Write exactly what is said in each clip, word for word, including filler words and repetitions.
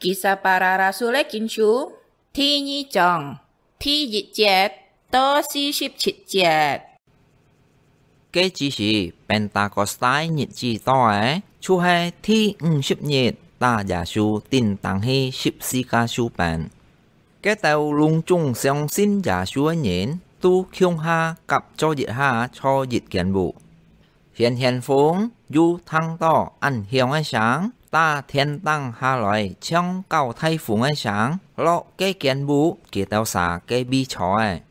Kisah Para Rasul-é Kinsú，第二章，第一節到四十七節。該之時，Pentakostai日子到咧，就係第五十日，搭耶穌釘釘去十字架手邊。該兜攏總相信耶穌个人，都共下合做一下，坐一間屋。 掀掀風，又聽到恁響个聲，搭天頂下來像搞大風个聲，落該間屋佢兜儕个位坐咧。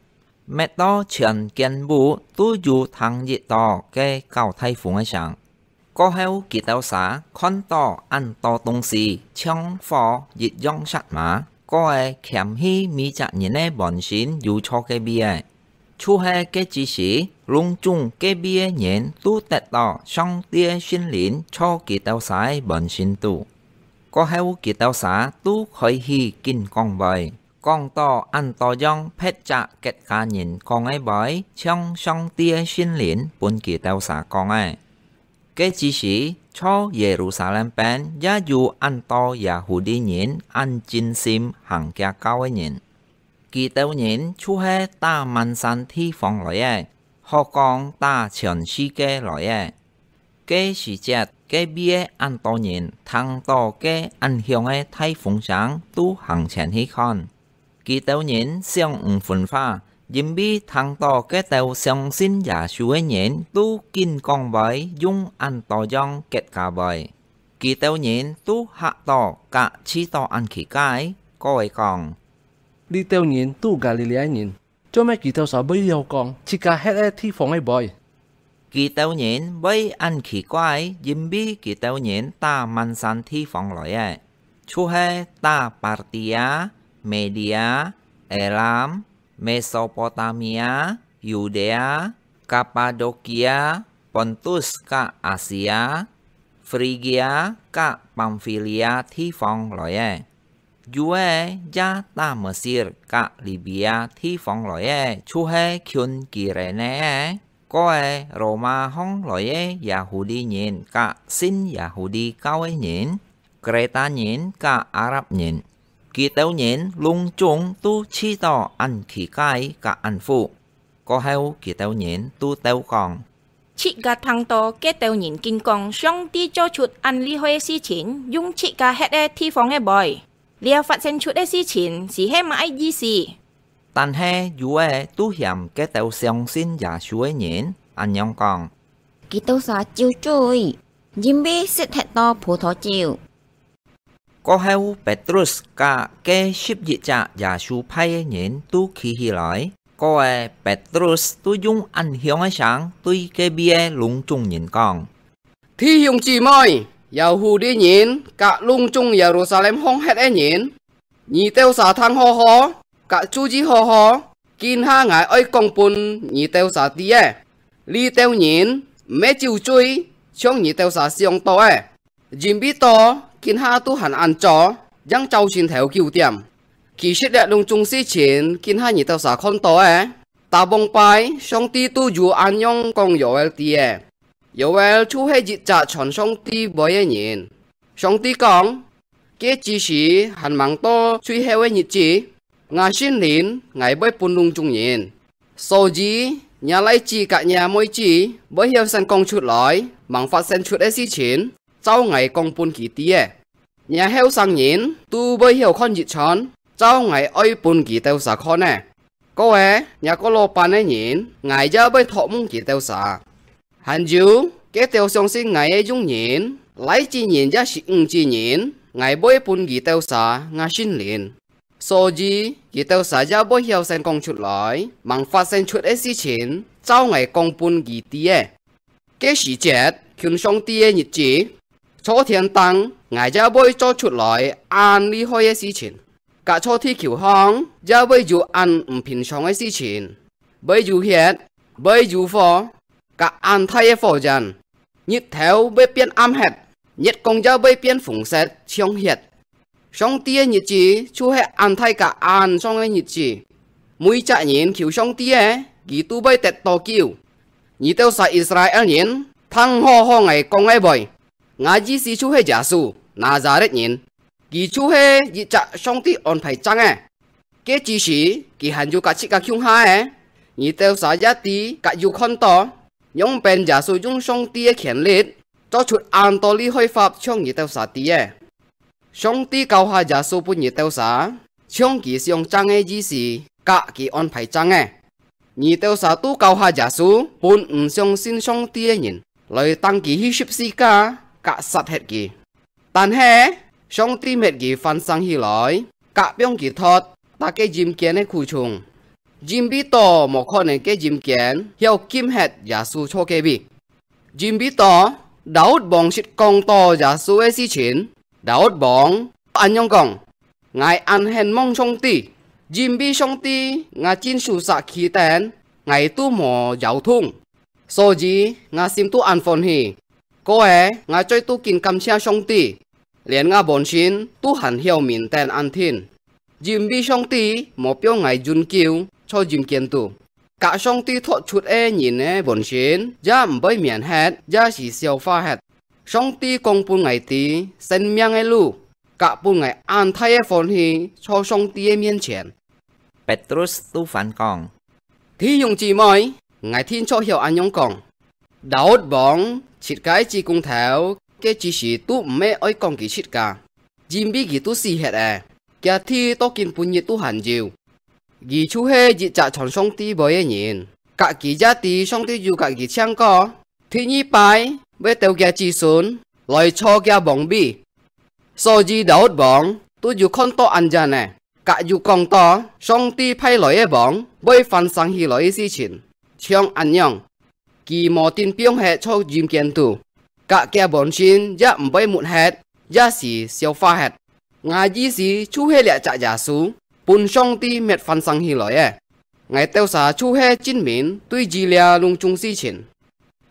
搣到全間屋都有聽一到該搞大風个聲。過後佢兜儕看到恁多東西，像火一樣煞麻，過仔掔去每隻人个本身有坐个位仔。 就係該之時，攏總該位个人都得到上帝个聖靈坐佢兜儕个本身肚。過後佢兜儕都開始緊講話，講到恁多樣別隻國家人講个話，像上帝个聖靈分佢兜儕講个。 該之時，在耶路撒冷邊也有恁多Yahudi人恁盡心行厥教个人。佢兜人就係打滿山地方來个，或講打全世界來个。該時節，該位个恁多人聽到該恁響个大風聲，都行前去看。 佢兜人想毋分化，因為聽到該兜相信耶穌个人都緊講話，用恁多樣國家話。佢兜人都嚇到，甲試到恁奇怪，過仔講：「這兜人都加利利人，做麼佢兜儕會曉講自家歇个地方个話？」 佢兜人會恁奇怪，因為佢兜人打滿山地方來个，就係打Partia、Media、Elam、Mesopotamia、Yudea、Kapadokia、Pontus甲Asia、Frigia甲Pamfilia地方來个。 有个也打Mesir甲Libia地方來个，就係近Kirene个，過仔Roma項來个Yahudi人甲信Yahudi教个人，Kreta人甲Arab人，佢兜人攏總都試到恁奇怪甲恁服。 過後佢兜人都鬥講：「自家聽到該兜人緊講上帝做出恁厲害个事情，用自家歇个地方个話，這發生出个事情是係麼个意思？」但係有个都嫌該兜相信耶穌个人，恁樣講：「佢兜儕酒醉，因為食忒多葡萄酒。」 過後，Petrus甲該十一隻耶穌派个人都企起來，過仔Petrus都用恁響个聲對該位个攏總人講：「弟兄姊妹，Yahudi人甲攏總Yerusalem項歇个人，你兜儕聽好好，甲注意好好，今下𠊎愛講分你兜儕知个。這兜人毋係酒醉，像你兜儕想到个。 因為到今下都還恁早，正朝晨頭九點。其實這攏總事情，今下你兜儕看到个，打往擺上帝都有恁樣講Yoel知个。Yoel就係一隻傳上帝話个人。上帝講：該之時還吂到最後个日子，吾聖靈𠊎會分攏總人。 所以，若倈子甲若妹子會曉先講出來，吂發生出个事情，照𠊎講分佢知个。若後生人都會曉看異象，照𠊎愛分佢兜儕看个。過仔，若過老板个人，𠊎也會託夢佢兜儕。還有，該兜相信𠊎个用人，倈子人也係女子人，𠊎會分佢兜儕吾聖靈。 所以，佢兜儕也會曉先講出來，吂發生出个事情，照𠊎講分佢知个。該時節，近上帝个日子，在天頂，𠊎也會做出來恁厲害个事情，甲在地球項也會有恁毋平常个事情，會有血，會有火，甲恁大个火焰。 日頭會變暗忒，月光也會變紅色，像血。上帝个日子就係恁大甲恁長个日子。每隻人求上帝个，佢都會得到救。你兜儕Israel人，聽好好𠊎講个話。吾意思就係耶穌，拿撒勒人。佢就係一隻上帝安排正个。該之時，佢還有佮自家共下个，你兜儕也知佮有看到，仰般耶穌用上帝个權力，做出恁多厲害法，像你兜儕知个。上帝教下耶穌分你兜儕，像佢想正个意思，佮佢安排正个。你兜儕都教下耶穌，分毋相信上帝个人，來當佢去十字架，佮殺忒佢。但係，上帝搣佢翻生起來，佮放佢脫，搭該陰間个苦蟲。因為到無可能該陰間，曉禁忒耶穌坐該位。因為到，Daud王識講到耶穌个事情，Daud王恁樣講：「𠊎恁恨望上帝，因為上帝吾正手儕企等，𠊎都無搖動。」所以，吾心都恁歡喜。過仔，吾嘴都緊感謝上帝，連吾本身都還曉愐等恁定，因為上帝無放𠊎永久在陰間肚。佮上帝脫出个人个本身，也毋會免忒，也係消化忒。上帝講分𠊎知生命个路，佮分𠊎恁大个歡喜在上帝个面前。Petrus都反講：「弟兄姊妹，𠊎定著曉恁樣講，Daud王自家个子公頭，該之時都毋係愛講佢自家，因為佢都死忒了，厥地到今晡日都還有。佢就係一隻傳上帝話个人，佮佢也知上帝有佮佢請過，第二擺會鬥厥子孫來坐厥王位。」所以Daud王都有看到恁樣呢， 佮有講到，上帝派來个王會翻生起來个事情，像恁樣，佢無定放忒在陰間肚，佮厥本身也毋會沒忒，也係消化忒。𠊎意思就係這隻耶穌，分上帝搣翻生起來个。𠊎兜儕就係證明對於這攏總事情。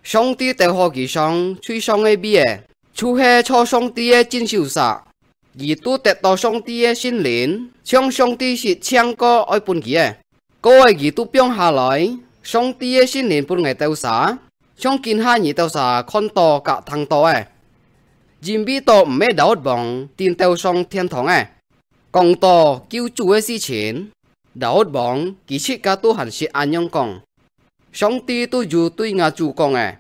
上帝鬥好佢上最上个位仔，就係坐上帝个正手儕。 佢都得到上帝个聖靈，像上帝識請過愛分佢个。過仔佢都放下來，上帝个聖靈分𠊎兜儕，像今下你兜儕看到佮聽到个。因為到毋係Daud王定鬥上天堂个。講到救主个事情，Daud王佢自家都還識恁樣講：「上帝都有對吾主講个：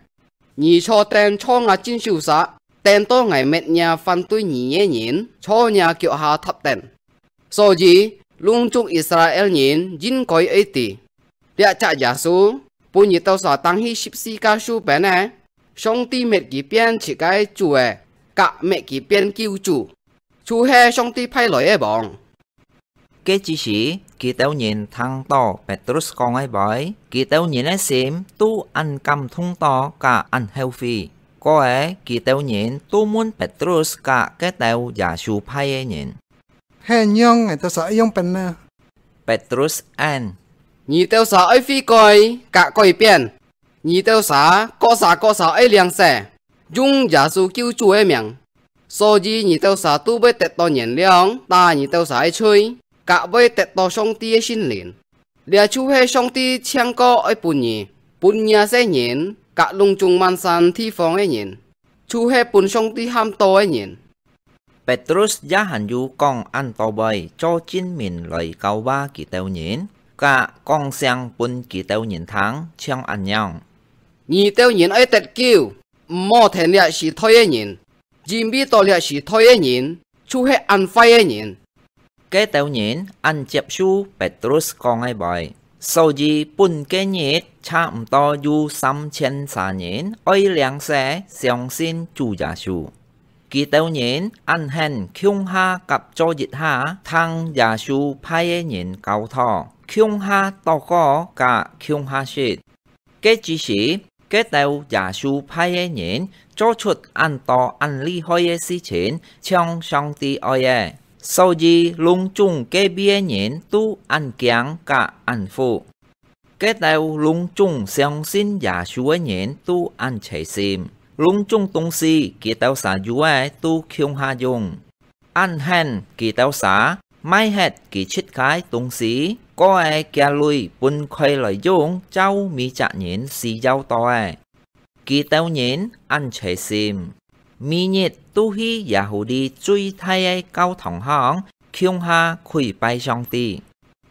你坐等在吾正手儕，等到𠊎搣若反對你个人在若腳下踏等。」所以，攏總Israel人應該愛知，這隻耶穌分你兜儕釘去十字架樹邊个，上帝搣佢變自家个主仔，佮搣佢變救主，就係上帝派來个王。 該之時，佢兜人聽到Petrus講个話，佢兜人个心都恁感動到佮恁後悔。過仔，佢兜人都問Petrus佮該兜耶穌派个人：「係仰𠊎兜儕愛仰般呢？」Petrus應：「你兜儕愛悔改佮改變， 你兜儕各儕各儕愛領洗，用耶穌救主个名，所以你兜儕都會得到原諒，打你兜儕个罪，佮會得到上帝个聖靈。這就係上帝請過愛分你，分若世人，佮攏總萬山地方个人，就係分上帝喊到个人。」 Petrus也還有講恁多話做證明來教化佢兜人，佮講聲分佢兜人聽，像恁樣：「你兜人愛得救，毋好跈這時代个人，因為到這時代个人就係恁壞个人。」 該兜人恁接受Petrus講个話，所以分該日差毋多有三千儕人愛領洗相信主耶穌。佢兜人恁肯共下合作一下，聽耶穌派个人教導，共下禱告佮共下食。 該之時，該兜耶穌派个人做出恁多恁厲害个事情，像上帝愛个，所以攏總該位个人都恁驚佮恁服。該兜攏總相信耶穌个人都恁齊心，攏總東西佢兜儕有个都共下用。 恁肯佢兜儕賣忒佢自家个東西，過个寄鐳分開來用，照每隻人需要到个。佢兜人恁齊心。每日都去耶穌裡最大个教堂項，共下跪拜上帝。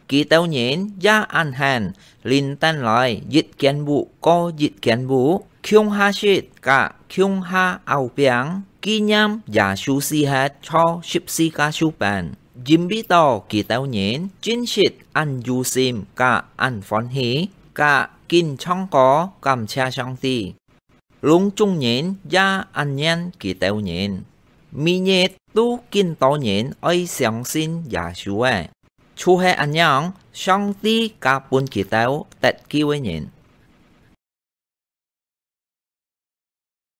佢兜人也恁樣，輪等來一間屋過一間屋，共下食佮共下拗餅，紀念耶穌死忒在十字架樹邊。因為到佢兜人真實恁有心佮恁歡喜，佮緊唱歌感謝上帝。攏總人也恁念佢兜人，每日都緊多人愛相信耶穌誒。就係恁樣，上帝加分佢兜得救个人。